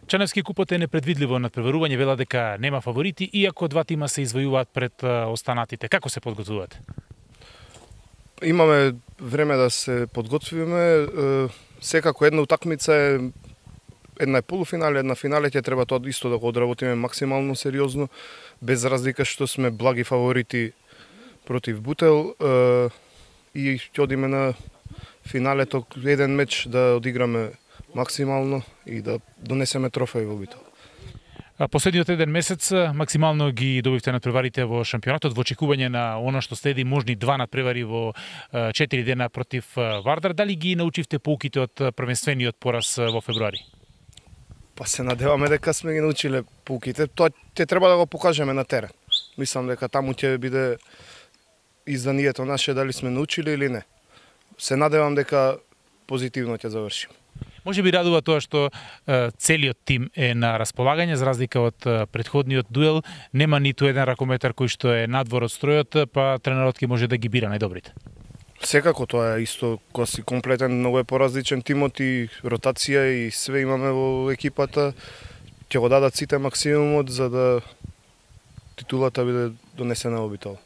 Чаневски купот е непредвидливо надпреварување, вела дека нема фаворити, иако два тима се извојуваат пред останатите. Како се подготвувате? Имаме време да се подготвиме. Секако една утакмица е една е полуфинале, една финале, ќе треба тоа исто да го одработиме максимално сериозно, без разлика што сме благи фаворити против Бутел и ќе одиме на финалето еден меч да одиграме максимално и да донесеме трофеи во Битол. Последниот еден месец максимално ги добивте надпреварите во шампионатот во очекување на она што следи можни два надпревари во 4 дена против Вардар. Дали ги научивте поуките од првенствениот пораз во февруари? Па се надеваме дека сме ги научиле поуките. Тоа ќе треба да го покажеме на терен. Мислам дека таму ќе биде изданието наше дали сме научили или не. Се надевам дека позитивно ќе завршим. Може би радува тоа што целиот тим е на располагање, за разлика од претходниот дуел. Нема ниту еден ракометар кој што е надвор од стројот, па тренерот ќе може да ги бира најдобрите. Секако тоа е исто, кога си комплетен, многу е поразличен тимот и ротација и све имаме во екипата. Ќе го дадат сите максимумот за да титулата биде донесена во Битол.